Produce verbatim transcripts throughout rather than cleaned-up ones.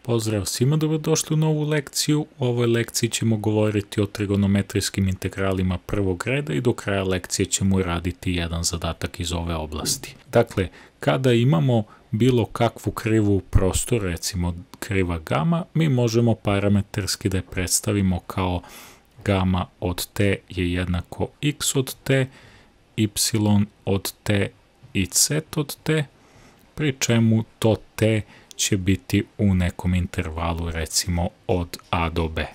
Pozdrav svima, dobrodošli u novu lekciju. U ovoj lekciji ćemo govoriti o trigonometrijskim integralima prvog reda i do kraja lekcije ćemo raditi jedan zadatak iz ove oblasti. Dakle, kada imamo bilo kakvu krivu u prostoru, recimo kriva gama, mi možemo parametarski da je predstavimo kao gama od t je jednako x od t, y od t i z od t, pri čemu to t će biti u nekom intervalu, recimo od a do b.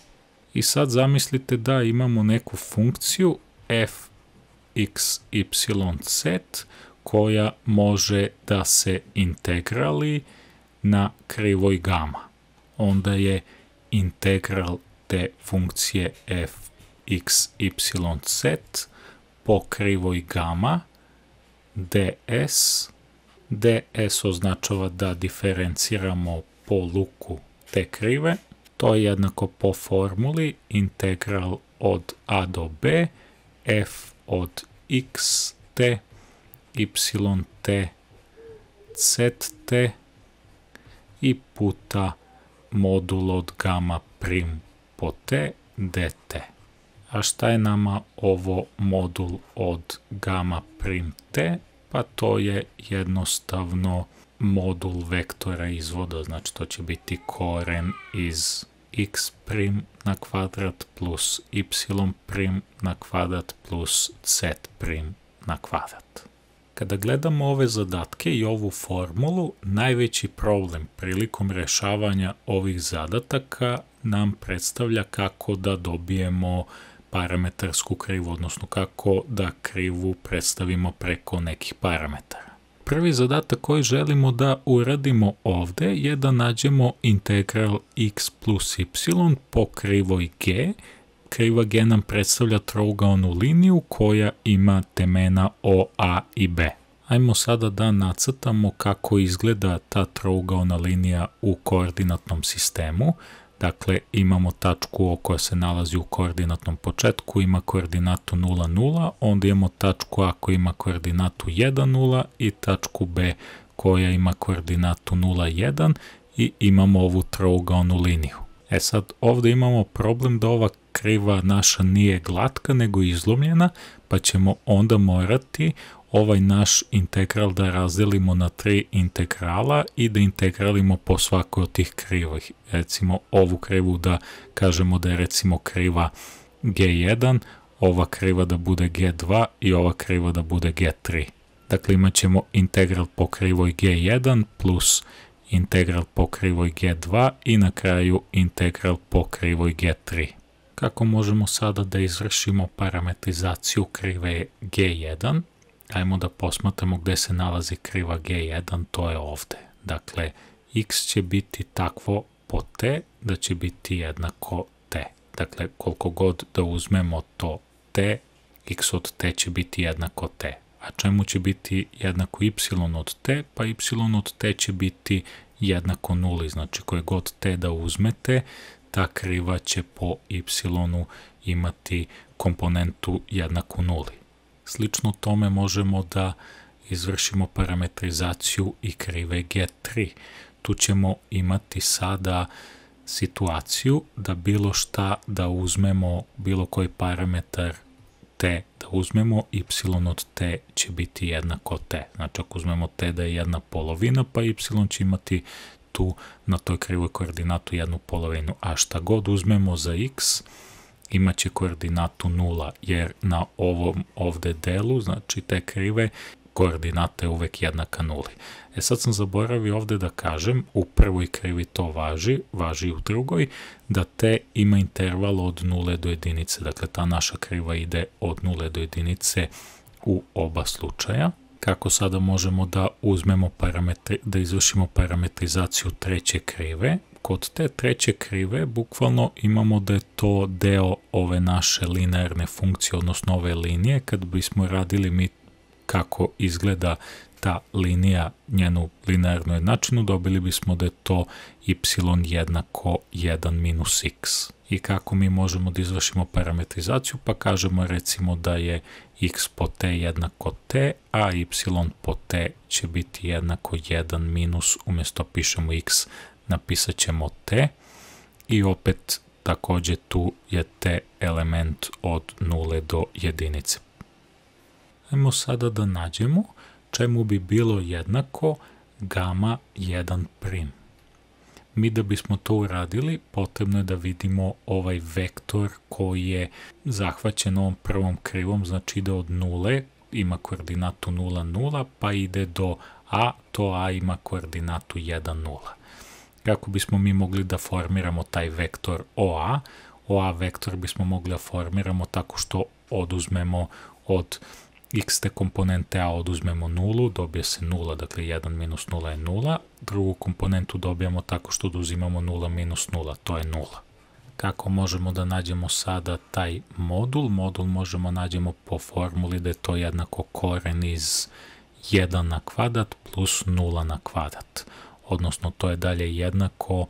I sad zamislite da imamo neku funkciju f x y z koja može da se integrali na krivoj gama. Onda je integral te funkcije f x y z po krivoj gama ds. ds označava da diferenciramo po luku te krive. To je jednako po formuli integral od a do b f od x t, y t, z t i puta modul od gama prim po t dt. A šta je nama ovo modul od gama prim t? Pa to je jednostavno modul vektora izvoda, znači to će biti koren iz x prim na kvadrat plus y prim na kvadrat plus z prim na kvadrat. Kada gledamo ove zadatke i ovu formulu, najveći problem prilikom rešavanja ovih zadataka nam predstavlja kako da dobijemo parametarsku krivu, odnosno kako da krivu predstavimo preko nekih parametara. Prvi zadatak koji želimo da uradimo ovde je da nađemo integral x plus y po krivoj g. Kriva g nam predstavlja trougaonu liniju koja ima temena o, a i b. Ajmo sada da nacrtamo kako izgleda ta trougaona linija u koordinatnom sistemu. Dakle, imamo tačku O koja se nalazi u koordinatnom početku, ima koordinatu nula, nula, onda imamo tačku A koja ima koordinatu jedan, nula i tačku B koja ima koordinatu nula, jedan i imamo ovu trougaonu liniju. E sad, ovde imamo problem da ova kriva naša nije glatka, nego izlomljena, pa ćemo onda morati ovaj naš integral da razdelimo na tri integrala i da integralimo po svakoj od tih krivih. Recimo ovu krivu da kažemo da je recimo kriva ge jedan, ova kriva da bude ge dva i ova kriva da bude ge tri. Dakle, imat ćemo integral po krivoj ge jedan plus integral po krivoj ge dva i na kraju integral po krivoj ge tri. Kako možemo sada da izvršimo parametrizaciju krive ge jedan? Ajmo da posmatramo gde se nalazi kriva ge jedan, to je ovde. Dakle, x će biti takvo po t da će biti jednako t. Dakle, koliko god da uzmemo to t, x od t će biti jednako t. A čemu će biti jednako y od t? Pa y od t će biti jednako nuli. Znači, koje god t da uzmete, ta kriva će po y imati komponentu jednaku nuli. Slično tome možemo da izvršimo parametrizaciju i krive ge tri. Tu ćemo imati sada situaciju da bilo šta da uzmemo, bilo koji parametar t da uzmemo, y od t će biti jednako t. Znači ako uzmemo t da je jedna polovina, pa y će imati tu na toj krivoj koordinatu jednu polovinu. A šta god uzmemo za x, imaće koordinatu nula, jer na ovom ovde delu, znači te krive, koordinata je uvek jednaka nuli. E sad sam zaboravio ovde da kažem, u prvoj krivi to važi, važi i u drugoj, da t ima interval od nule do jedinice. Dakle, ta naša kriva ide od nule do jedinice u oba slučaja. Kako sada možemo da uzmemo parametri, da izvršimo parametrizaciju treće krive? Kod te treće krive bukvalno imamo da je to deo ove naše linearne funkcije, odnosno ove linije. Kad bismo radili mi kako izgleda ta linija, njenu linearnu jednačinu, dobili bismo da je to y jednako jedan minus x. I kako mi možemo da izvršimo parametrizaciju? Pa kažemo recimo da je x po t jednako t, a y po t će biti jednako jedan minus, umjesto pišemo x, napisat ćemo t i opet također tu je t element od nule do jedinice. Ajmo sada da nađemo čemu bi bilo jednako gama jedan prim. Mi da bismo to uradili, potrebno je da vidimo ovaj vektor koji je zahvaćen ovom prvom krivom, znači ide od nule, ima koordinatu nula, nula, pa ide do a, to a ima koordinatu jedan, nula. Kako bismo mi mogli da formiramo taj vektor oa? Oa vektor bismo mogli da formiramo tako što oduzmemo od x te komponente a oduzmemo nulu, dobije se nula, dakle jedan minus nula je nula, drugu komponentu dobijamo tako što oduzimamo nula minus nula, to je nula. Kako možemo da nađemo sada taj modul? Modul možemo nađemo po formuli da je to jednako koren iz jedan na kvadrat plus nula na kvadrat. Odnosno to je dalje jednako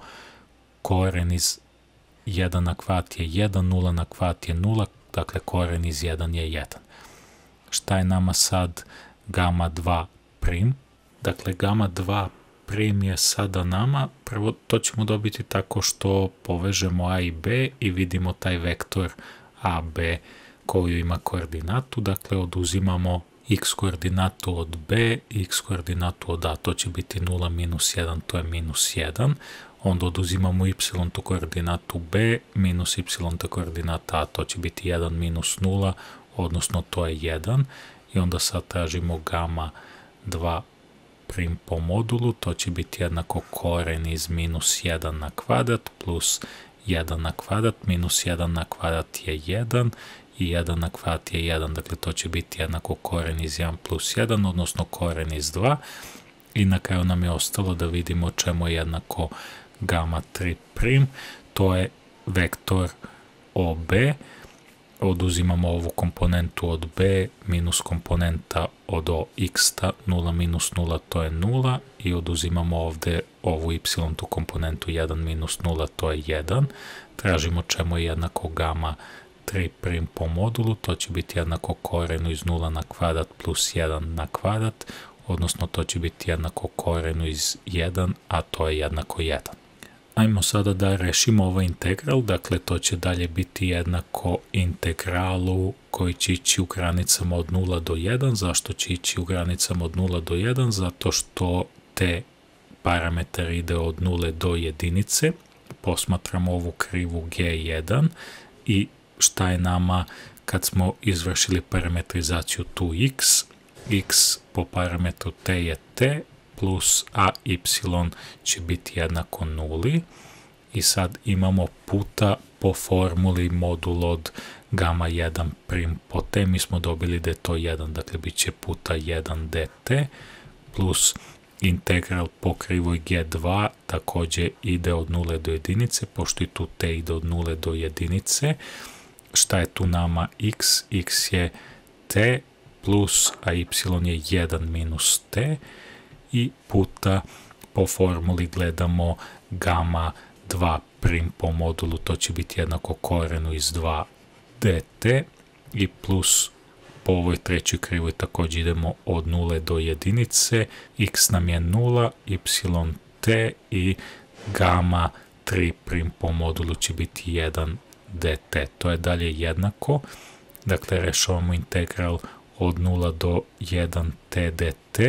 koren iz jedan na kvadrat je jedan, nula na kvadrat je nula, dakle koren iz jedan je jedan. Šta je nama sad gama dva prim? Dakle, gama dva prim je sada nama, prvo to ćemo dobiti tako što povežemo a i b i vidimo taj vektor a, b koju ima koordinatu, dakle oduzimamo x koordinatu od b, x koordinatu od a, to će biti nula minus jedan, to je minus jedan, onda oduzimamo y tu koordinatu b, minus y ta koordinata a, to će biti jedan minus nula, odnosno to je jedan, i onda sad tražimo gama dva prim po modulu, to će biti jednako koren iz minus jedan na kvadrat plus jedan na kvadrat, minus jedan na kvadrat je jedan i jedan na kvadrat je jedan, dakle to će biti jednako koren iz jedan plus jedan, odnosno koren iz dva, i na kraju nam je ostalo da vidimo čemu je jednako gama tri prim, to je vektor ob, oduzimamo ovu komponentu od b minus komponenta od o x-ta, nula minus nula to je nula, i oduzimamo ovde ovu y tu komponentu jedan minus nula, to je jedan. Tražimo čemu je jednako gama tri prim po modulu, to će biti jednako korenu iz nula na kvadrat plus jedan na kvadrat, odnosno to će biti jednako korenu iz jedan, a to je jednako jedan. Ajmo sada da rešimo ovaj integral, dakle to će dalje biti jednako integralu koji će ići u granicama od nula do jedan. Zašto će ići u granicama od nula do jedan? Zato što te parametar ide od nule do jedinice. Posmatramo ovu krivu ge jedan i šta je nama kad smo izvršili parametrizaciju tu x? X po parametru t je t, plus a y će biti jednako nuli, i sad imamo puta po formuli modul od gama jedan prim po t, mi smo dobili da je to jedan, dakle bit će puta jedan dt, plus integral po krivoj ge dva također ide od nule do jedinice, pošto i tu t ide od nule do jedinice. Šta je tu nama x? X je t plus a y je jedan minus t, i puta po formuli gledamo gama dva prim po modulu, to će biti jednako korenu iz dva dt, i plus po ovoj trećoj krivoj također idemo od nule do jedinice, x nam je nula, y t, i gama tri prim po modulu će biti jedan dt. To je dalje jednako, dakle rešavamo integral od nula do jedan t dt,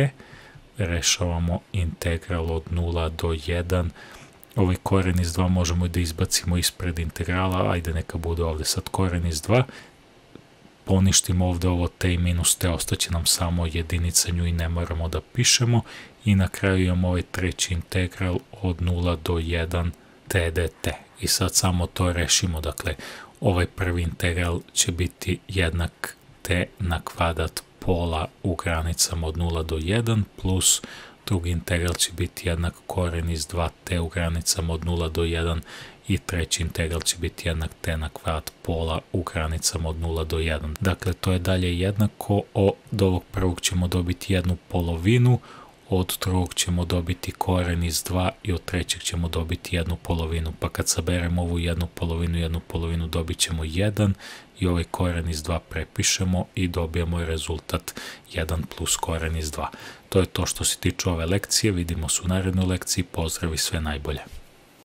rešavamo integral od nula do jedan, ovaj koren iz dva možemo da izbacimo ispred integrala, ajde neka bude ovde sad koren iz dva, poništimo ovde ovo t i minus t, ostaće nam samo jedinica, nju i ne moramo da pišemo, i na kraju imamo ovaj treći integral od nula do jedan t dt. I sad samo to rešimo, dakle ovaj prvi integral će biti jednak t na kvadrat pola u granicama od nula do jedan, plus drugi integral će biti jednak koren iz dva t u granicama od nula do jedan, i treći integral će biti jednak t na kvadrat pola u granicama od nula do jedan. Dakle, to je dalje jednako, od ovog prvog ćemo dobiti jednu polovinu, od drugog ćemo dobiti koren iz dva i od trećeg ćemo dobiti jednu polovinu, pa kad saberemo ovu jednu polovinu i jednu polovinu dobit ćemo jedan, i ovaj koren iz dva prepišemo i dobijemo rezultat jedan plus koren iz dva. To je to što se tiče ove lekcije, vidimo se u narednoj lekciji, pozdrav i sve najbolje.